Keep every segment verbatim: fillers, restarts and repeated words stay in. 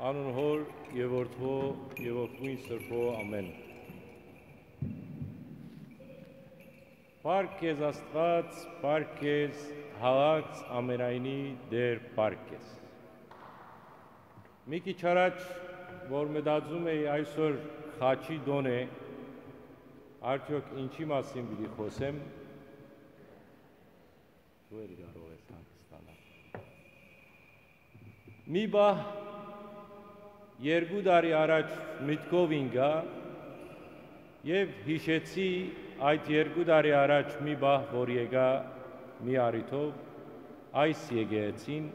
Անուն Հօր եւ Որդւոյ եւ Ոգին Սրբոյ, ամէն։ Փառք քեզ, Աստուած, փառք քեզ, յալած ամենայնի Տէր, փառք քեզ։ Մի քիչ առաջ, որ մտածում էի այսօր խաչի տօն է, արդեօք ինչի՞ մասին պիտի խօսեմ, դու էլ կարող ես հանգստանալ։ Մի պահ, երկու տարի առաջ մտքով ինկայ եւ յիշեցի այդ երկու տարի առաջ մի պահ, որ եկայ մի առիթով այս եկեղեցին,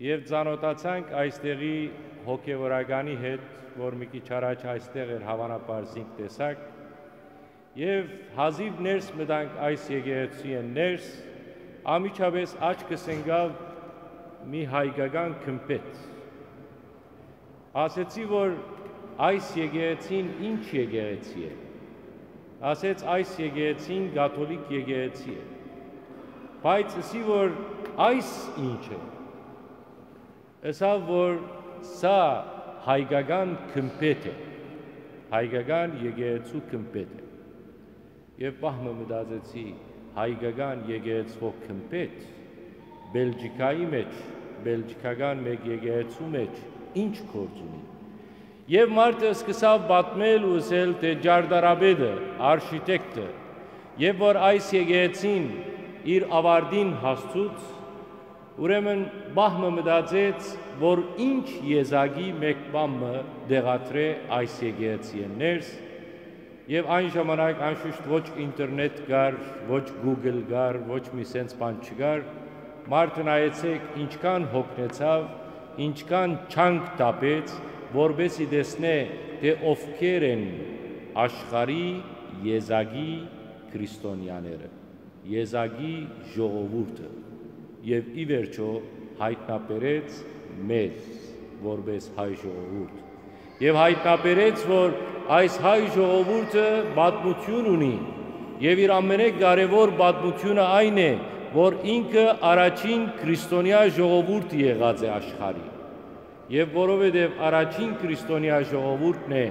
եւ ծանօթացանք այստեղի հոգեւորականի հետ, որ մի քիչ առաջ այստեղ էր, հաւանաբար զինք տեսաք, եւ հազիւ ներս մտանք այս եկեղեցիէն ներս, անմիջապէս աչքս ընկաւ մի հայկական գմբէթ։ Ասեցի, որ այս եկեղեցին ինչ եկեղեցի է։ Ասեց, այս եկեղեցին կաթոլիկ եկեղեցի է։ Բայց ըսի, որ այս ինչ է։ Ըսաւ, որ սա հայկական գմբէթ է, հայկական եկեղեցու գմբէթ է։ Եւ պահ մը մտածեցի, հայկական եկեղեցւոյ գմբէթ Բելգիքայի մէջ, բելգիքական մէկ եկեղեցու մէջ ինչ գործ ունի։ Եւ մարդը սկսաւ պատմել ու ըսել, թէ ճարտարապետը, արշիտեկտը, եւ որ այս եկեղեցին իր աւարտին հասցուց, ուրեմն պահ մը մտածեց, որ ինչ եզակի մէկ բան մը տեղադրէ այս եկեղեցիէն ներս, եւ այն ժամանակ անշուշտ ոչ ինտերնետ կար, ոչ Google կար, ոչ մի սենց բան չկար, մարդը, նայեցէք, ինչքան հոգնեցաւ, ինչքան չանք տապեց, որպեսզի տեսնէ, թէ ովքեր են աշխարհի եզակի քրիստոնեաները, եզակի ժողովուրդը, եւ ի վերջոյ յայտնաբերեց մեզ որպէս հայ ժողովուրդ։ Եւ յայտնաբերեց, որ այս հայ ժողովուրդը պատմութիւն ունի, եւ իր ամենէ կարեւոր պատմութիւնը այն է, որ ինքը առաջին քրիստոնեայ ժողովուրդը եղած է աշխարհի։ Եւ որովհետեւ առաջին քրիստոնեայ ժողովուրդն է,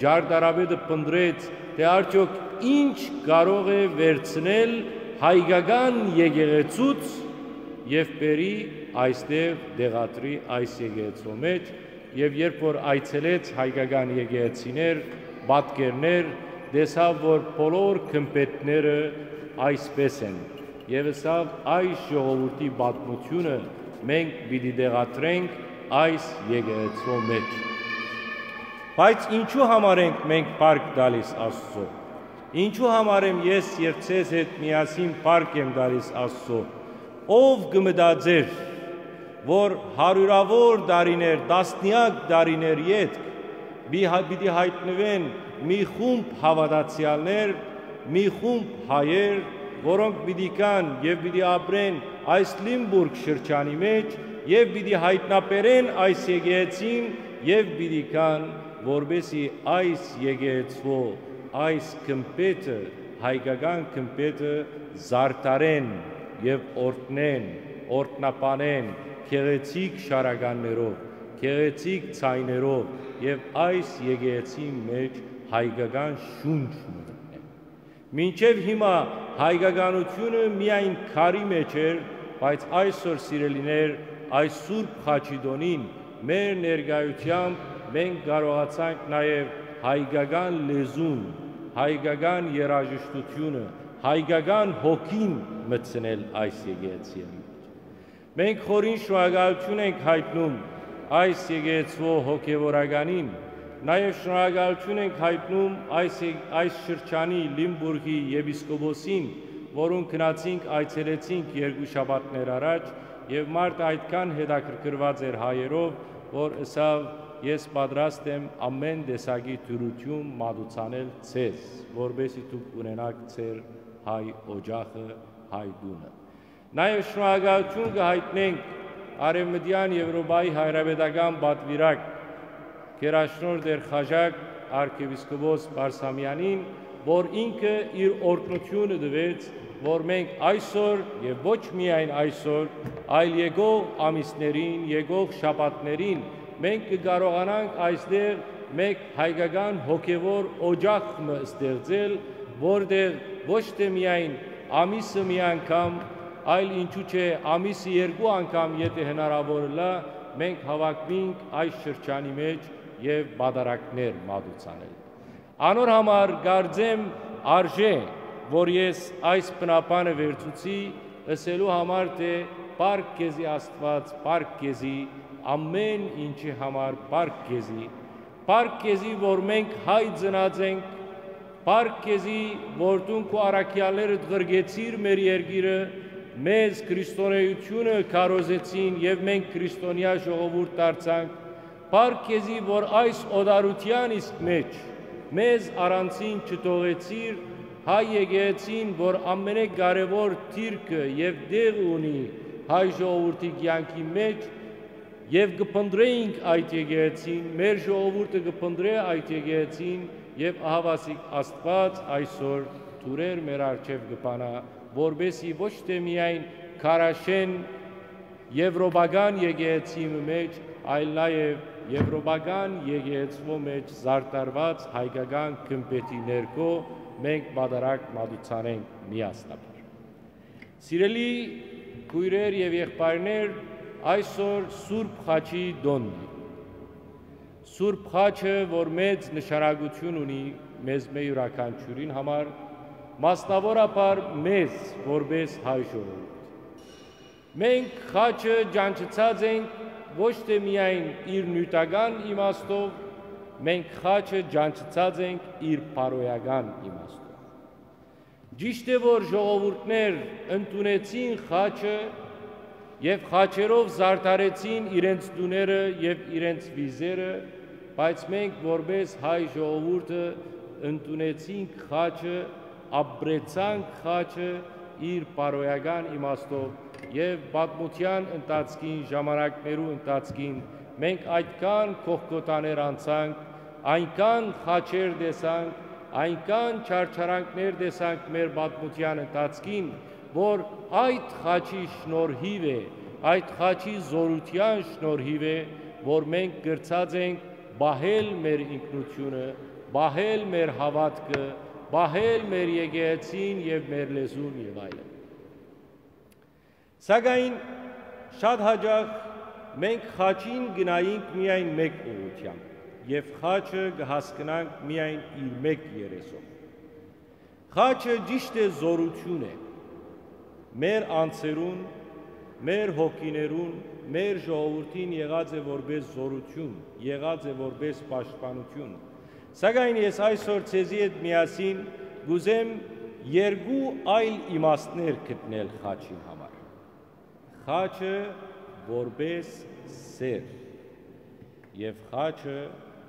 ճարտարապետը փնտռեց, թէ արդեօք ինչ կարող է վերցնել հայկական եկեղեցուց եւ բերի այստեղ, տեղադրի այս եկեղեցու մէջ, եւ երբ որ այցելեց հայկական եկեղեցիներ, պատկերներ, տեսաւ, որ բոլոր գմբէթները այսպէս են, եւ ըսաւ, այս ժողովուրդի պատմութիւնը մենք պիտի տեղադրենք այս եկեղեցու մէջ։ Բայց ինչու համար ենք մենք փառք տալիս Աստծո։ Ինչու համար եմ ես եւ ձեզ հետ միասին փառք եմ տալիս Աստծո։ Ո՞վ կը մտածէր, որ հարիւրաւոր տարիներ, տասնեակ տարիներ ետք պի-, հա-, պիտի յայտնուեն մի խումբ հաւատացեալներ, մի խումբ հայեր, որոնք պիտի գան եւ պիտի ապրեն այս Լիմբուրգ շրջանի մէջ եւ պիտի յայտնաբերեն այս եկեղեցին եւ պիտի գան, որպեսզի այս եկեղեցու, այս գմբէթը, հայկական գմբէթը զարդարեն եւ օրհնեն, օրհնաբանեն գեղեցիկ շարականներով, գեղեցիկ ձայներով եւ այս եկեղեցին մէջ հայկական շունչ մը մտնեն։ Մինչեւ հիմա հայկականութիւնը միայն քարի մէջ էր, բայց այսօր, սիրելիներ, այս Սուրբ Խաչի տօնին մեր ներկայութեամբ մենք կարողացանք նաեւ հայկական լեզուն, հայկական երաժշտութիւնը, հայկական հոգին մտցնել այս եկեղեցիին։ Մենք խորին շնորհակալութիւն ենք յայտնում այս եկեղեցուոյ հոգեւորականին, նաեւ շնորհակալութիւն ենք յայտնում այս, այս շրջանի Լիմբուրգի եպիսկոպոսին, որուն գնացինք, այցելեցինք երկու շաբաթներ առաջ, եւ մարդը այդքան հետաքրքրուած էր հայերով, որ ըսաւ. «Ես պատրաստ եմ ամէն տեսակի դրութիւն մատուցանել ձեզ, որպեսզի դուք ունենաք ձեր հայ օջախը, հայ տունը»։ Նաեւ շնորհակալութիւն կը յայտնենք Արեւմտեան Եւրոպայի հայրապետական պատուիրակ գերաշնորհ Տէր Խաժակ արքեպիսկոպոս Բարսամեանին, որ ինքը իր օրհնութիւնը տուեց, որ մենք այսօր եւ ոչ միայն այսօր, այլ եկող ամիսներին, եկող շաբաթներին Մենք կը կարողանանք այստեղ մէկ հայկական հոգեւոր օճախ մը ստեղծել, որտեղ ոչ թե միայն ամիսը մի անգամ, այլ ինչու՞ չէ, ամիսը երկու անգամ, եթէ հնարաւոր ըլլայ, մենք հաւաքուինք այս շրջանի մէջ եւ պատարագներ մատուցանել։ Անոր համար կարծեմ արժէ, որ ես այս բնաբանը վերցուցի, ըսելու համար, թէ «Փառք քեզի, Աստուած, փառք քեզի, ամէն ինչի համար փառք քեզի, փառք քեզի, որ մենք հայ ծնած ենք, փառք քեզի, որ դուն քու առաքեալներդ ղրկեցիր մեր երկիրը, մեզ քրիստոնէությունը քարոզեցին եւ մենք քրիստոնեայ ժողովուրդ դարձանք, փառք քեզի, որ այս օտարութեան իսկ մէջ մեզ առանձին չթողեցիր, հայ եկեղեցին, որ ամենակարեւոր դիրքը եւ տեղը ունի հայ ժողովուրդի կեանքի մէջ, եւ կը փնտռէինք այդ եկեղեցին, մեր ժողովուրդը կը փնտռէ այդ եկեղեցին, եւ ահաւասիկ Աստուած այսօր դուռեր մեր առջեւ կը բանայ, որպէսզի ոչ թե միայն քարաշէն եւրոպական եկեղեցի մը մէջ, այլ նաեւ եւրոպական եկեղեցւոյ մէջ զարդարուած հայկական գմբէթի ներքո մենք պատարագ մատուցանենք միասնաբար։ Սիրելի քոյրեր եւ եղբայրներ, այսօր Սուրբ Խաչի տօնն է։ Սուրբ Խաչը, որ մեծ նշանակութիւն ունի մեզմէ իւրաքանչիւրին համար, մասնաւորաբար մեզ, որպէս հայ ժողովուրդ։ Մենք խաչը ճանչցած ենք ոչ թե միայն իր նիւթական իմաստով, մենք խաչը ճանչցած ենք իր բարոյական իմաստով։ Ճիշդ է, որ ժողովուրդներ ընդունեցին խաչը եւ խաչերով զարդարեցին իրենց տուները եւ իրենց վիզերը, բայց մենք, որպէս հայ ժողովուրդը, ընդունեցինք խաչը, ապրեցանք խաչը իր բարոյական իմաստով եւ պատմութեան ընթացքին, ժամանակներու ընթացքին մենք այդքան կողքոտաներ անցանք, այնքան խաչեր տեսանք, այնքան չարչարանքներ տեսանք մեր պատմութեան ընթացքին, որ այդ խաչի շնորհիւ է, այդ խաչի զօրութեան շնորհիւ է, որ մենք կրցած ենք պահել մեր ինքնութիւնը, պահել մեր հաւատքը, պահել մեր եկեղեցին եւ մեր լեզուն եւ այլն։ Սակայն շատ յաճախ մենք խաչին գնայինք միայն մէկ ուղղութեամբ եւ խաչը կը հասկնանք միայն իր մէկ երեսով։ Խաչը ճիշդ է զօրութիւն է։ Մեր անձերուն, մեր հոգիներուն, մեր ժողովուրդին եղած է որպէս զօրութիւն, եղած է որպէս պաշտպանութիւն։ Սակայն ես այսօր ձեզի հետ միասին կ'ուզեմ երկու այլ իմաստներ գտնել խաչին համար։ Խաչը որպէս սէր եւ խաչը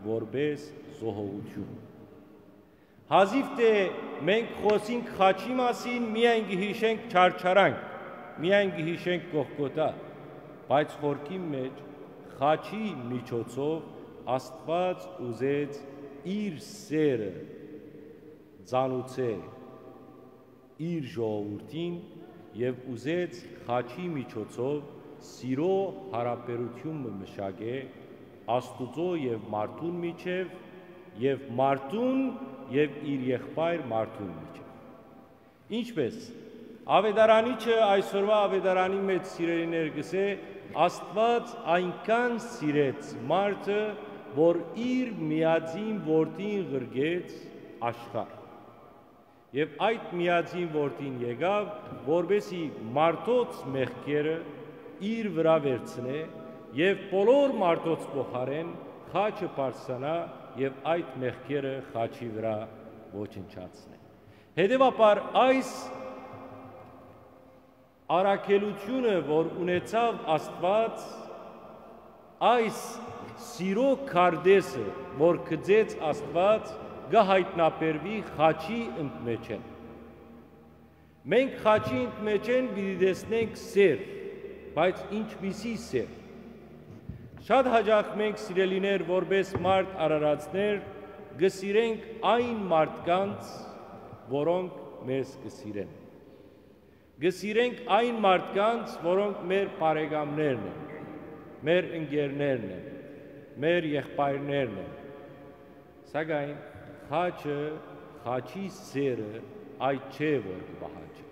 որպէս զոհողութիւն։ Հազիւ թէ մենք խօսինք խաչի մասին, միայն կը յիշենք չարչարանք, միայն կը յիշենք Կողքոթա, բայց խորքին մէջ խաչի միջոցով Աստուած ուզեց իր սէրը ծանուցէ իր ժողովուրդին եւ ուզեց խաչի միջոցով սիրո յարաբերութիւն մը մշակէ Աստուծոյ եւ մարդուն միջեւ, եւ մարդուն եւ իր եղբայր մարդուն միջեւ։ Ինչպէս, Աւետարանիչը այսօրուայ Աւետարանի մէջ, սիրելիներ, կ'ըսէ. «Աստուած այնքան սիրեց մարդը, որ իր միածին որդին ղրկեց աշխարհ»։ Եւ այդ միածին որդին եկաւ, որպէսզի մարդոց մեղքերը իր վրայ վերցնէ եւ բոլոր մարդոց փոխարէն խաչը բարձրանայ եւ այդ մեղքերը խաչի վրայ ոչնչացնէ։ Հետեւաբար այս առաքելութիւնը, որ ունեցաւ Աստուած, այս սիրո քարտէսը, որ գծեց Աստուած, կը յայտնաբերուի խաչի ընդմէջէն։ Մենք խաչի ընդմէջէն պիտի տեսնենք սէր, բայց ինչպիսի սէր։ Շատ յաճախ մենք, սիրելիներ, որպէս մարդ արարածներ, կը սիրենք այն մարդկանց, որոնք մեզ կը սիրեն։ Կը սիրենք այն մարդկանց, որոնք մեր բարեկամներն են, մեր ընկերներն են, մեր եղբայրներն են, սակայն խաչը, խաչի սերը այդ չէ, որ կը պահանջի։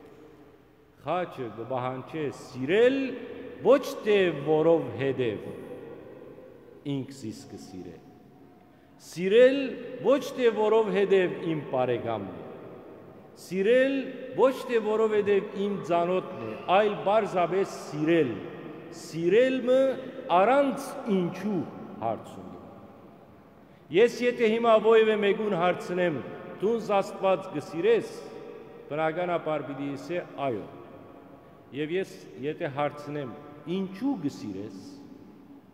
Խաչը կը պահանջէ սիրել, ոչ թէ որովհետեւ ինք զիս կը սիրէ։ Սիրել, ոչ թէ որովհետեւ իմ բարեկամն է։ Սիրել, ոչ թէ որովհետեւ իմ ծանօթն է, այլ պարզապէս սիրել։ Սիրել մը առանց ինչու հարց ունի։ Ես եթէ հիմա ոեւէ մէկուն հարցնեմ, «Դուն Աստուած կը սիրես», բնականաբար պիտի ըսէ, «Այո»։ Եւ ես եթէ հարցնեմ, «Ինչու կը սիրես»,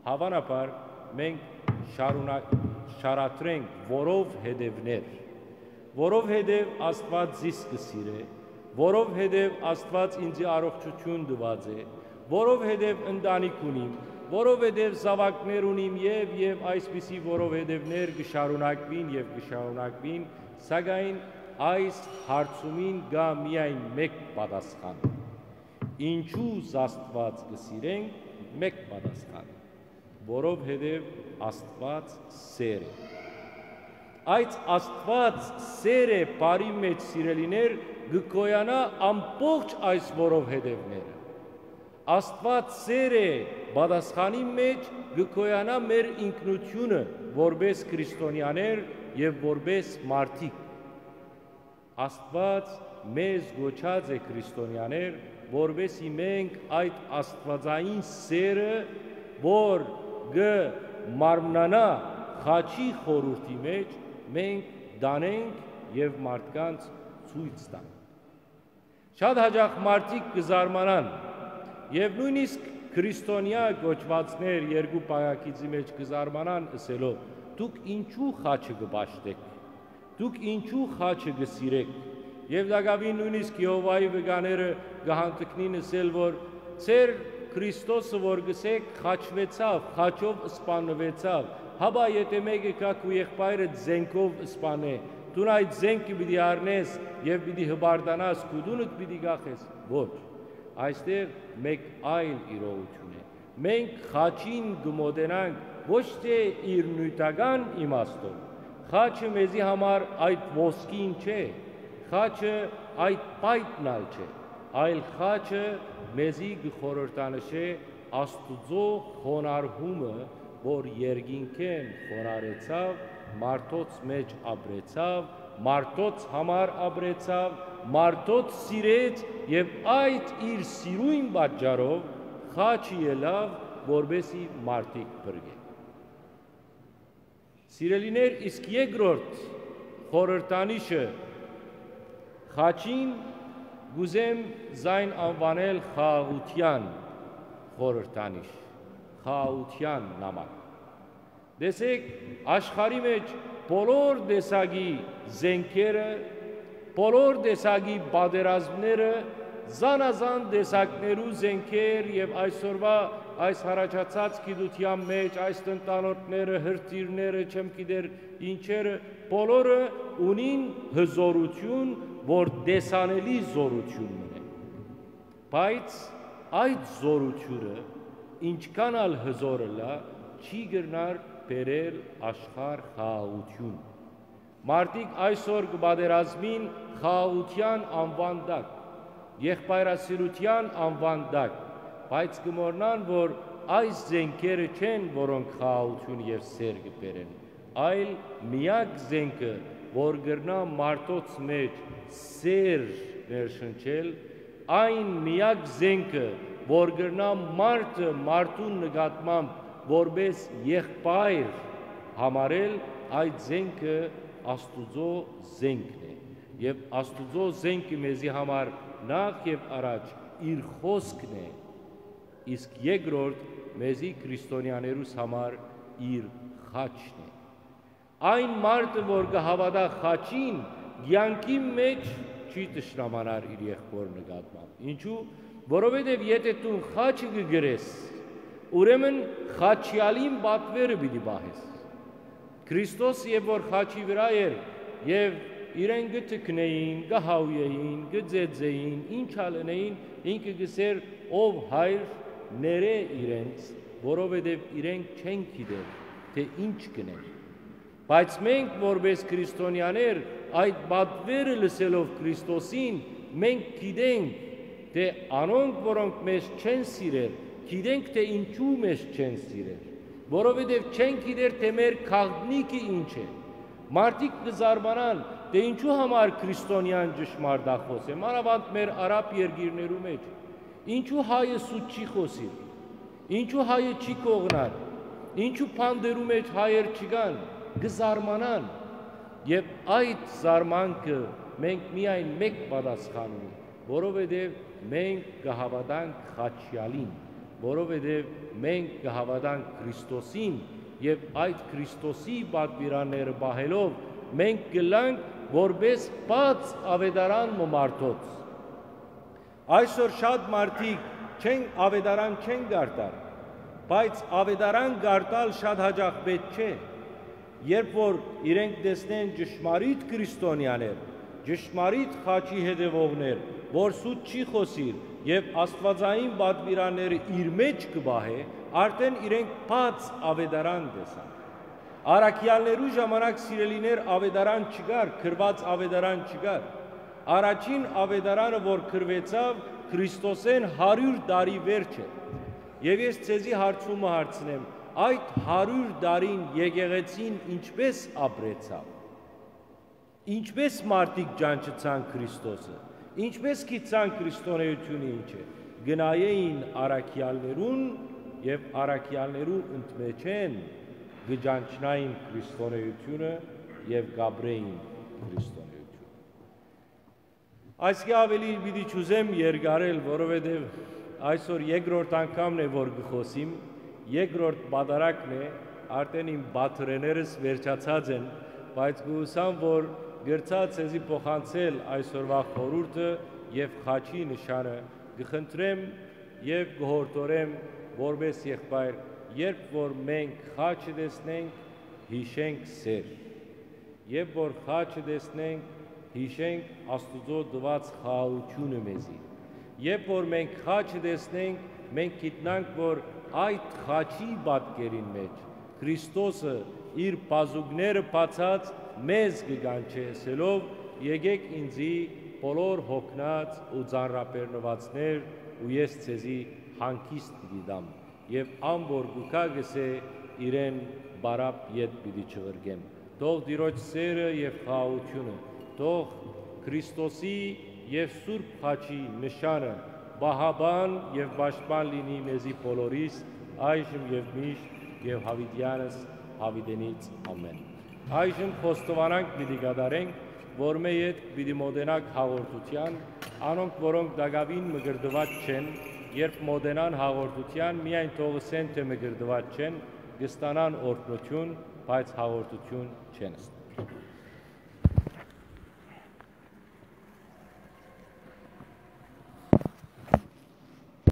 հաւանաբար մենք շարունակ-, շարադրենք որովհետեւներ, որովհետեւ Աստուած զիս կը սիրէ, որովհետեւ Աստուած ինծի առողջութիւն տուած է, որովհետեւ ընտանիք ունիմ, որովհետեւ զաւակներ ունիմ եւ, եւ այսպիսի որովհետեւներ կը շարունակուին եւ կը շարունակուին, սակայն այս հարցումին կայ միայն մէկ պատասխան։ Ինչու Աստուած կը սիրենք, մէկ պատասխան, որովհետեւ Աստուած սեր է։ Այդ Աստուած սեր է բառի մէջ, սիրելիներ, կը գոյանայ ամբողջ այս որովհետեւները։ Աստուած սեր է պատասխանի մէջ կը գոյանայ մեր ինքնութիւնը որպէս քրիստոնեաներ եւ որպէս մարդիկ։ Աստուած մեզ կոչած է քրիստոնեաներ, որպեսզի մենք այդ աստուածային սերը, որ կը մարմնանայ խաչի խորհուրդի մէջ, մենք տանենք եւ մարդկանց ցոյց տանք։ Շատ յաճախ մարդիկ կը զարմանան եւ նոյնիսկ քրիստոնեայ կոչուածներ երկու պայակիցի մէջ կը զարմանան ըսելով. «Դուք ինչու խաչը կը պաշտէք»։ Դուք ինչու խաչը կը սիրէք։ Եւ տակաւին նոյնիսկ Եհովայի վկաները կը հանդգնին ըսել, որ ձեր Քրիստոսը, որ կ'ըսէք, խաչուեցաւ, խաչով սպաննուեցաւ, հապա եթէ մէկը գայ քու եղբայրը զենքով սպանէ, դուն այդ զենքը պիտի առնես եւ պիտի հպարտանաս, քու տունդ պիտի կախես։ Ոչ, այստեղ մէկ այլ իրողութիւն է։ Մենք խաչին կը մօտենանք ոչ թէ իր նիւթական իմաստով։ Խաչը մեզի համար այդ ոսկին չէ, խաչը այդ պայտն ալ չէ, այլ խաչը մեզի կը խորհրդանշէ Աստուծոյ խոնարհումը, որ երկինքէն խոնարհեցաւ, մարդոց մէջ ապրեցաւ, մարդոց համար ապրեցաւ, մարդոց սիրեց եւ այդ իր սիրոյն պատճառով խաչը ելաւ, որպեսզի մարդիկ փրկէ։ Սիրելիներ, իսկ երկրորդ խորհրդանիշը խաչին կ'ուզեմ զայն անուանել խաղաղութեան խորհրդանիշ, խաղաղութեան նամակ։ Տեսեք, աշխարհի մէջ բոլոր տեսակի զենքերը, բոլոր տեսակի պատերազմները, զանազան տեսակներու զենքեր եւ այսօրուա այս յառաջացած գիտութեան մէջ, այս տնտանոթները, հրթիռները, չեմ գիտեր ինչերը, բոլորը ունին հզորութիւն, որ տեսանելի զորութիւն մըն է։ Բայց այդ զորութիւնը, ինչքան ալ հզոր ըլլայ, չի կրնար բերել աշխարհ խաղաղութիւն։ Մարդիկ այսօր կը պատերազմին խաղաղութեան անուան տակ, եղբայրասիրութեան անուան տակ, բայց կը մոռնան, որ այս զենքերը չեն, որոնք խաղաղութիւն եւ սեր կը բերեն, այլ միակ զենքը, որ կրնայ մարդոց մէջ սեր ներշնչել, այն միակ զենքը, որ կրնայ մարդը մարդուն նկատմամբ որպէս եղբայր համարել, այդ զենքը Աստուծոյ զենքն է։ Եւ Աստուծոյ զենքը մեզի համար նախ եւ առաջ իր խօսքն է, իսկ երկրորդ մեզի քրիստոնեաներուս համար իր խաչն է։ Այն մարդը, որ կը հաւատայ խաչին, կեանքի մէջ չի թշնամանար իր եղբոր նկատմամբ։ Ինչու՞։ Որովհետեւ եթէ դու խաչը կը կրես, ուրեմն խաչեալին պատուերը պիտի պահես։ Քրիստոս երբ որ խաչի վրայ էր եւ իրեն կը թքնէին, կը հաուէին, կը ծեծէին, ինչ ալ ընէին, ինքը կ'ըսէր. «Ով Հայր, ներէ իրենց, որովհետեւ իրենք չեն գիտեր թէ ինչ կ'ընեն։ Բայց մենք, որպէս քրիստոնեաներ, այդ պատուերը լսելով Քրիստոսին, մենք գիտենք թէ անոնք, որոնք մեզ չեն սիրեր, գիտենք թէ ինչու մեզ չեն սիրեր, որովհետեւ չեն գիտեր թէ մեր գաղտնիքը ինչ է։ Մարդիկ կը զարմանան թէ ինչու համար քրիստոնեան ճշմարտախօս է, մանաւանդ մեր արաբ երկիրներու մէջ, ինչու հայը սուտ չի խօսիր, ինչու հայը չի կողնար, ինչու բանտերու մէջ հայեր չկան, կը զարմանան։ Եւ այդ զարմանքը մենք միայն մէկ պատասխան ունի, որովհետեւ մենք կը հաւատանք Խաչեալին, որովհետեւ մենք կը հաւատանք Քրիստոսին, եւ այդ Քրիստոսի պատուիրանները պահելով մենք կ'ըլլանք որպէս բաց աւետարան մը մարդոց։ Այսօր շատ մարդիկ չեն, աւետարան չեն կարդար, բայց աւետարան կարդալ շատ յաճախ պէտք չէ։ Երբ որ իրենք տեսնեն ճշմարիտ քրիստոնեաներ, ճշմարիտ խաչի հետեւողներ, որ սուտ չի խօսիր եւ աստուածային պատուիրանները իր մէջ կը պահէ, արդեն իրենք բաց աւետարան տեսան։ Առաքեալներու ժամանակ, սիրելիներ, աւետարան չկար, գրուած աւետարան չկար։ Առաջին աւետարանը, որ գրուեցաւ, Քրիստոսէն հարիւր տարի վերջ է։ Եւ ես ձեզի հարցումը հարցնեմ, այդ հարիւր տարին եկեղեցին ինչպէս ապրեցաւ։ Ինչպէս մարդիկ ճանչցան Քրիստոսը, ինչպէս գիտցան քրիստոնէութիւնը ինչ է, կը նայէին առաքեալներուն եւ առաքեալներու ընդմէջէն կը ճանչնային քրիստոնէութիւնը եւ կ'ապրէին քրիստոնէութիւնը։ Այսկէ աւելի պիտի չուզեմ երկարել, որովհետեւ այսօր երկրորդ անգամն է, որ կը խօսիմ, երկրորդ պատարագն է, արդեն իմ պատրեներս վերջացած են, բայց կ'ուսամ, որ կրցայ ձեզի փոխանցել այսօրուայ խորհուրդը եւ խաչի նշանը, կը խնդրեմ եւ կը յորդորեմ որպէս եղբայր, երբ որ մենք խաչը տեսնենք, յիշենք սեր։ Երբ որ խաչը տեսնենք, յիշենք Աստուծոյ տուած խաղաղութիւնը մեզի։ Երբ որ մենք խաչը տեսնենք, մենք գիտնանք, որ այդ խաչի պատկերին մէջ Քրիստոսը իր բազուկները բացած մեզ կը կանչէ, ըսելով. «Եկէք ինծի, բոլոր յոգնած ու ծանրաբեռնուածներ, ու ես ձեզի հանգիստ պիտի տամ»։ Եւ ան որ կու գայ, կ'ըսէ. «Իրեն պարապ ետ պիտի չղրկեմ»։ Թող Տիրոջ սէրը եւ խաղաղութիւնը, թող Քրիստոսի եւ Սուրբ Խաչի նշանը պահապան եւ պաշտպան լինի մեզի բոլորիս, այժմ եւ միշտ եւ յաւիտեանս յաւիտենից։ Ամէն։ Այժմ խոստովանանք պիտի կատարենք, որ մէ յետ պիտի մօտենաք հաղորդութեան, անոնք, որոնք տակաւին մկրտուած չեն, երբ մօտենան հաղորդութեան, միայն թող ըսեն թէ մկրտուած չեն, կը ստանան օրհնութիւն, բայց հաղորդութիւն չեն ստանար։